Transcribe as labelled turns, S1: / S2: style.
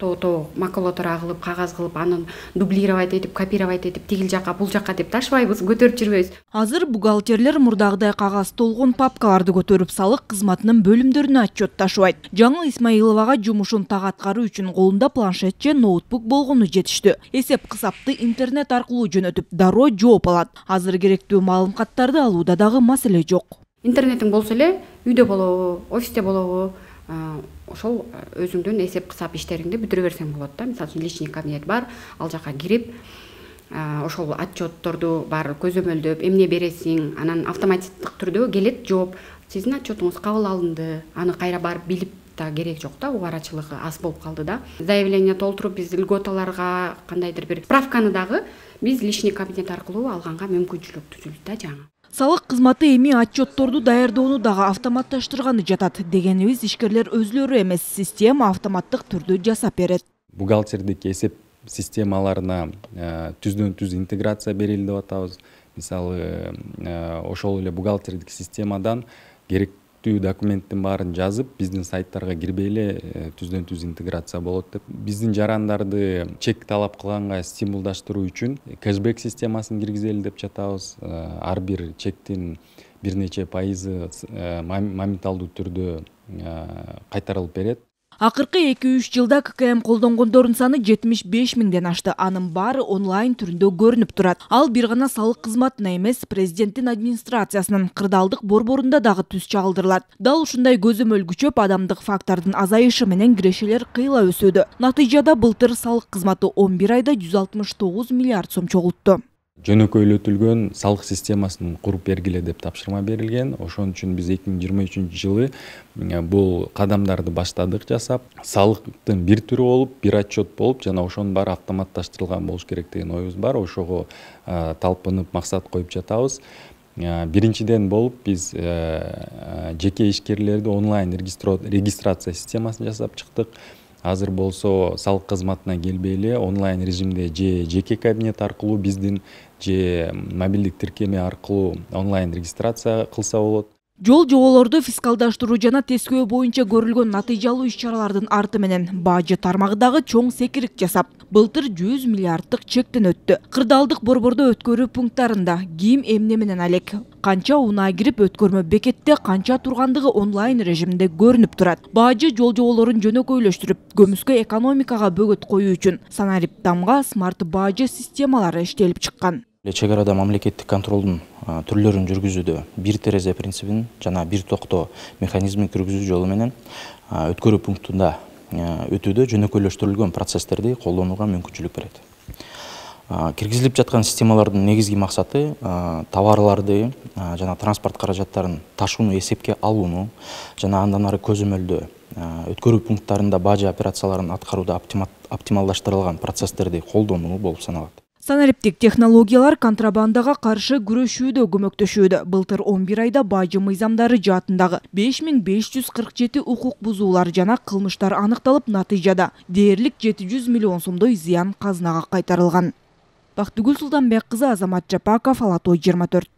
S1: макулатура кылып, кагаз кылып, аны дублировать этип, копировать этип, тигил жака, бул жака деп ташыбайбыз, көтөрүп жүрбөйбүз.
S2: Азыр бухгалтерлер мурдагыдай кагаз толгон папкаларды көтөрүп салык кызматынын бөлүмдөрүнө отчет ташыбайт. Жаңыл Исмаиловага жумушун так аткаруу үчүн колунда планшет же ноутбук болгону жетиштүү. Эсеп кысапты интернет аркылуу жөнөтүп, дароо жооп алат. Азыр керектүү маалыматтарды алууда дагы маселе жок.
S1: Интернетиң болсо эле, үйдө болобу, офисте болобу, ошол өзүңдүн эсеп кысап иштериңди бүтүрө берсең болот да. Мисалы үчүн личный кабинет бар, ал жака кирип, ошол отчетторду баары көзөмөлдөп, эмне бересиң, анан автоматтык түрдө келет жооп. Сиздин отчетуңуз кабыл алынды, аны кайра барып билип да керек жок да, убарачылыгы аз болуп калды да. Заявление толтуруп, биз льготаларга кандайдыр бир справканы дагы биз личный кабинет аркылуу алганга мүмкүнчүлүк түзүлдү да жаңы.
S2: Салык кызматы эми отчетторду даярдоону дагы автоматташтырганы жатат. Дегенибиз, ишкерлер өзлөрү эмес, система автоматтык түрдө жасап берет.
S3: Бухгалтердик эсеп системаларына түздөн түз интеграция берилди деп атабыз. Мисалы, ошол эле бухгалтердик системадан керектүү документтин баарын жазып, биздин сайттарга кирбей эле түздөн түз интеграция болот деп. Биздин жарандарды чек талап кылганга стимулдаштыруу үчүн кэшбэк системасын киргизели деп жатабыз. Ар бир чектин бир нече пайызы моменталдуу түрдө кайтарылып берет.
S2: Акыркы 2-3 жылда ККМ колдонгондордун саны 75 миңден ашты. Анын баары онлайн түрүндө көрүнүп турат. Ал бир гана салык кызматына эмес, президенттин администрациясынын кырдаалдык борборунда дагы түз чагылдырылат. Дал ушундай көзөмөл күчөп, адамдык фактордун азайышы менен кирешелер кыйла өсүүдө. Натыйжада былтыр салык кызматы 11 айда 169 миллиард сом чогултту.
S3: Жөнөкөйлөтүлгөн салык системасын куруп бергиле деп тапшырма берилген. Ошон үчүн биз 2023 жылы бул кадамдарды баштадык жасап, салыктын бир түрү болуп, бир отчет болуп, жана ошонун баары автоматташтырылган болуш керек деген оюбуз бар. Ошого талпынып максат коюп жатабыз. Биринчиден болуп биз жеке ишкерлерди онлайн регистрация системасын жасап чыктык. Азыр болсо салык кызматына келбей эле онлайн режимде же жеке кабинет аркылуу биздин же мобилдик тиркеме аркылуу онлайн регистрация кылса болот.
S2: Жол жоболорду фискалдаштыруу жана тескөө боюнча көрүлгөн натыйжалуу иш-чаралардын арты менен бажы тармагындагы чоң секирик жасап, былтыр 100 миллиарддык чектен өттү. Кырдаалдык борбордо өткөрүү пункттарында ким эмне менен алек, канча унаа кирип өткөрмө бекетте канча тургандыгы онлайн режимде көрүнүп турат. Бажы жол жоболорун жөнөкөйлөштүрүп, көмүскө экономикага бөгөт коюу үчүн санарип тамга смарт бажы системалары иштелип чыккан.
S4: Чек арада мамлекеттик контролдун түрлөрүн жүргүзүүдө бир терезе принцибин жана бир токто механизмин киргизүү жолу менен өткөрүү пунктунда өтүүдө жөнөкөйлөштүрүлгөн процесстерди колдонууга мүмкүнчүлүк берет. Киргизилип жаткан системалардын негизги максаты товарларды жана транспорт каражаттарын ташууну эсепке алууну жана андан ары көзөмөлдөө өткөрүү пункттарында бажы операцияларын аткарууда оптималдаштырылган процесстерди колдонуу болуп саналат.
S2: Санариптик технологиялар контрабандага каршы күрөшүүдө көмөктөшүүдө. Былтыр 11 айда бажы мыйзамдары жаатындагы 5547 укук бузуулар жана кылмыштар аныкталып, натыйжада дээрлик 700 миллион сомдой зыян казынага кайтарылган. Бактыгүл Султанбек кызы, Азамат Жапаков, Ала Той 24.